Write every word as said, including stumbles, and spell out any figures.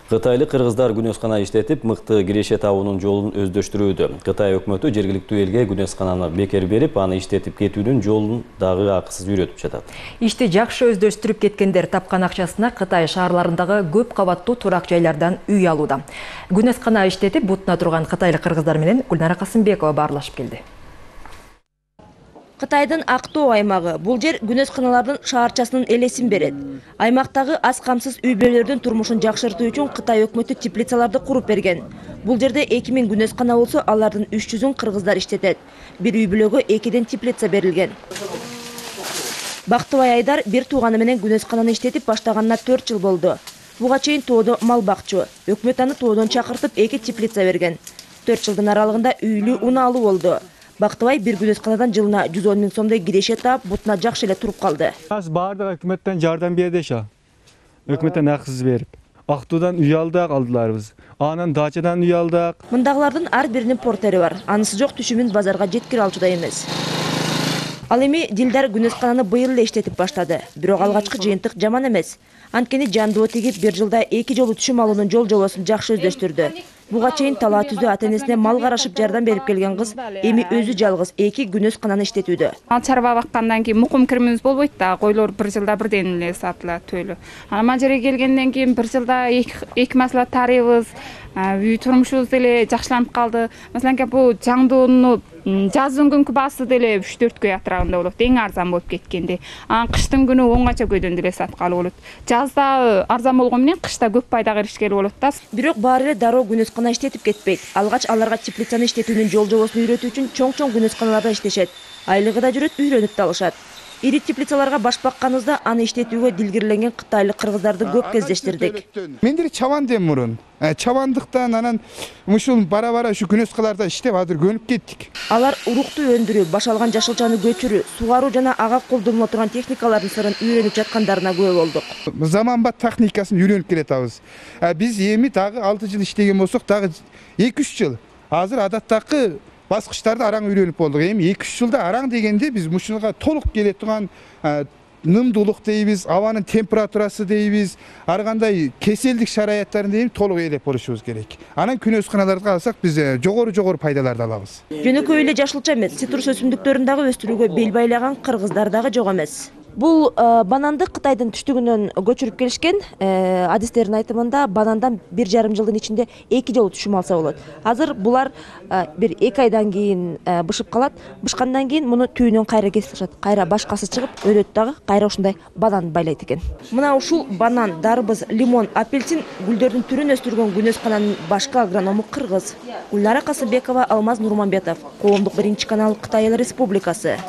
Кытайлык кыргыздар күнөскана иштетип, мыкты киреше табуунун жолун өздөштүрүүдө. Кытай өкмөтү жергиликтүү элге күнөскананы бекер берип, аны иштетип кетүүнүн жолун дагы акысыз үйрөтүп жатат. Ишти жакшы өздөштүрүп кеткендер тапкан акчасына Кытай шаарларындагы көп кабаттуу турак жайлардан үй алууда. Күнөскана иштетип бутуна турган кытайлык кыргыздар менен Гүлнара Касымбекова баарлашып келди. Кытайдын Актоо аймагы бул жер күнөсканалардын шаарчасынын элесин берет. Аймактагы аз камсыз үй бүлөлөрдүн турмушун жакшыртуу үчүн Кытай өкмөтү теплицаларды куруп берген. Бул жерде эки миң күнөскана болсо, алардын үч жүзүн кыргыздар иштетет. Бир үй бүлөгө экиден теплица берилген. Бактыбай Айдар бир тууганы менен күнөскананы иштетип баштаганына төрт жыл болду. Буга чейин тоодо мал бакчу. Өкмөт аны тоодон чакыртып эки теплица берген. төрт жылдын аралыгында үйлүү унаалуу болду. Бактыбай бир күнөсканадан жылына жүз он миң сомдой киреше таап, бутуна жакшы эле туруп калды. Аз баардык өкмөттөн жардам берди ша. Өкмөттөн акысыз берип. Актуудан үй алдык алдыларыбыз. Анан дачадан үй алдык. Мындагылардын ар биринин портери бар. Анысы жок түшүмүн базарга жеткире алчудай эмес. Ал эми Дилдар күнөскананы быйыл эле иштетип баштады. Бирок алгачкы жыйынтык жаман эмес. Анткени жандоо тигип бир жылда эки жолу түшүм алуунун жол жобосун жакшы өздөштүрдү. Буга чейин талаа түзүү ата-энесине мал карашып жардам берип келген кыз эми өзү жалгыз эки күнөскананы иштетүүдө. Мал чарба баккандан кийин мукум кирмибиз болбойт да, койлор бир жылда бирден эле сатылат төлү. Анан жерге келгенден кийин бир жылда эки маслат тарыйбыз. Үй турмушубуз деле жакшыланып калды. Маселен, бул жаңдоону жаздын күнкү баасы деле үч төрт көй атырабында болот. Эң арзан болуп кеткенде. Анан кыштын күнү онганча көйдөн деле саткалы болот. Жазда арзан болгон менен кышта көп пайдага эришкели болот да. Бирок баары эле дароо күнөскана иштетип кетпейт. Алгач аларга теплицаны иштетүүнүн жол жобосун үйрөтүү үчүн чоң-чоң күнөсканаларда иштешет. Айлыгы да жүрөт, үйрөнүп да алышат. Ири теплицаларга баш бакканыбызда аны иштетүүгө дилгирленген кытайлык кыргыздарды көп кездештирдик. Мендер чабандем мурун. Чабандыктан анан ушул бара-бара ушу күнөскаларда иштеп азыр көнүп кеттик. Алар урукту өндүрүү, башалган жашылчаны көчүрүү, сугаруу жана ага колдонула турган техникалардын сырын үйрөнүп жаткандарына күбө болдук. Заманбап техникасын үйрөнүп келатабыз. Биз эми дагы алты жыл иштеген болсок, дагы эки үч жыл. Азыр адаттагы баскычтарды араң үйрөнүп болдук. Эми эки үч жылда араң дегенде биз мушуга толук келе турган нымдуулук дейбиз, абанын температурасы дейбиз, ар кандай кеселдик шараяттарын дейбиз толук ээлеп болушубуз керек. Анан күнөсканаларды алсак биз жогору-жогору пайдаларды алабыз. Жөнөкөй эле жашылча эмес, цитрус өсүмдүктөрүн дагы өстүрүүгө бел байлаган кыргыздар дагы жок эмес. Бул бананды Кытайдын түштүгүнөн көчүрүп келишкен. Адистердин айтымында банандан бир жарым жылдын ичинде эки жолу түшүм алса болот. Азыр булар бир эки айдан кийин бышып калат. Бышкандан кийин муну түйүнөн кайра кесип ташат. Кайра башкасы чыгып, өлөт дагы кайра ушундай банан байлайт экен. Мына ушул банан, дарбыз, лимон, апельсин гүлдөрдүн түрүн өстүргөн күнөскананын башкы агроному кыргыз. Гүлнара Касымбекова, Алмаз Нурманбетов, Коомдук биринчи канал, Кытай Республикасы.